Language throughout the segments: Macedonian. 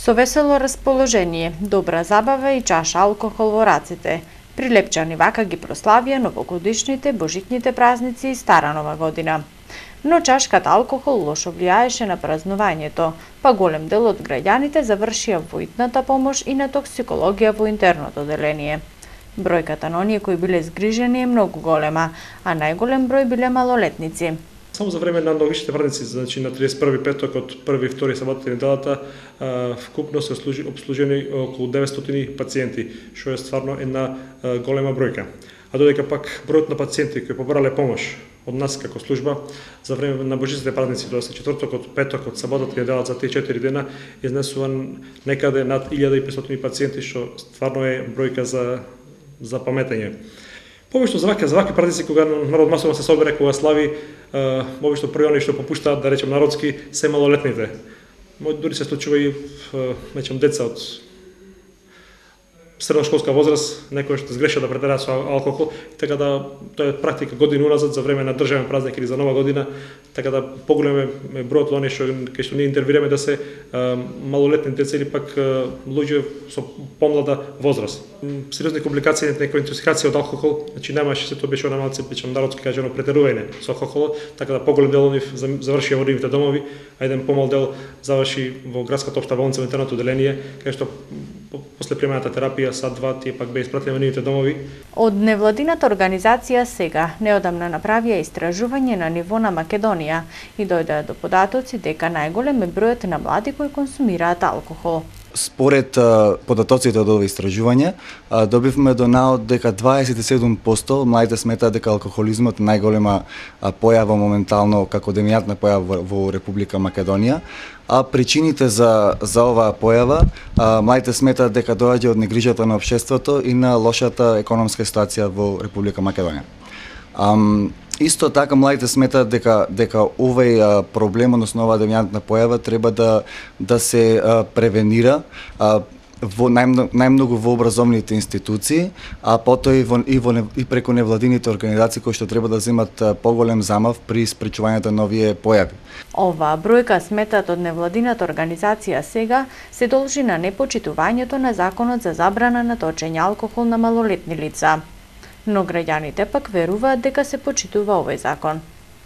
Со весело расположение, добра забава и чаша алкохол во раците, Прилепчани вака ги прославија новогодишните, божитните празници и Стара Нова година. Но чашката алкохол лошо влијаеше на празнувањето, па голем дел од граѓаните завршија во итната помош и на токсикологија во интерното оделение. Бројката на оние кои биле згрижени е многу голема, а најголем број биле малолетници. Само за време на новогодишните празници, значи на 31 петок од 1 и 2 саботата и неделата, вкупно се обслужени околу 900 пациенти, што е стварно една голема бројка. А додека пак бројот на пациенти кои побарале помош од нас како служба за време на божитните празници, тоа се четврток, од петок, од саботата и неделата за тие 4 дена изнесуван некаде над 1500 пациенти, што стварно е бројка за паметење. Обично за вакви празници кога народ масовно се собере, кога слави, обично први они што попуштаат, да речем народски, се малолетните. Дури се случува и деца од средношколска возраст, некои што сгрешат да претераат со алкохол, така да тоа е практика години уназад за време на државен празник или за Нова година, така да поголем е бројот на оние кај што ние интервираме да се малолетни деца или пак луѓе со помлада возраст. Сериозни компликации, некоја интоксикација од алкохол, значи немаше, се тоа беше она малце народски кажано претерување со алкохолот, така да поголем дел од нив завршија во нивните домови, а еден помал дел заврши во градската општа болница во интерното оделение, кај што после примената терапија сад-два тие пак беа испратени во нивните домови. Од невладината организација сега неодамна направија истражување на ниво на Македонија и дојдоа до податоци дека најголем е бројот на млади кои консумираат алкохол. Според податоците од ова истражување, добивме до наод дека 27% младите сметаат дека алкохолизмот е најголема појава моментално како доминантна појава во Република Македонија, а причините за оваа појава младите сметаат дека доаѓа од негрижата на општеството и на лошата економска ситуација во Република Македонија. Исто така младите сметаат дека овој проблем, односно оваа доминантна појава треба да се превенира во најмногу во образовните институции, а потоа и преку невладините организации кои што треба да земат поголем замав при спречувањето на овие појави. Оваа бројка, сметат од невладината организација сега, се должи на непочитувањето на законот за забрана на точење алкохол на малолетни лица. Но граѓаните пак веруваат дека се почитува овој закон.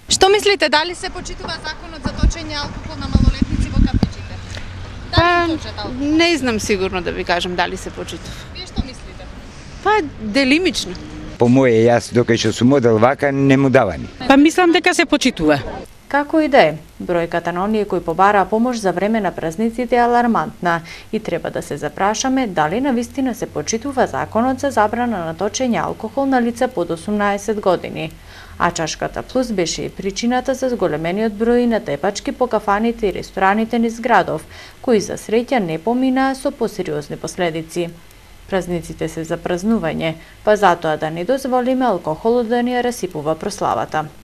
Што мислите, дали се почитува законот за точење алкохол на малолетници во кафичите? Дали точат алкохол? Не знам сигурно да ви кажам дали се почитува. Вие што мислите? Делимично. По моје, јас докај што сум одел вака, не му давани. Мислам дека се почитува. Како и да е, бројката на оние кои побараа помош за време на празниците е алармантна и треба да се запрашаме дали навистина се почитува законот за забрана на точење алкохол на лица под 18 години. А чашката плюс беше и причината за зголемениот број на тепачки по кафаните и рестораните низ градов, кои за среќа не поминаа со посериозни последици. Празниците се за празнување, па затоа да не дозволиме алкохолот да ни ја расипува прославата.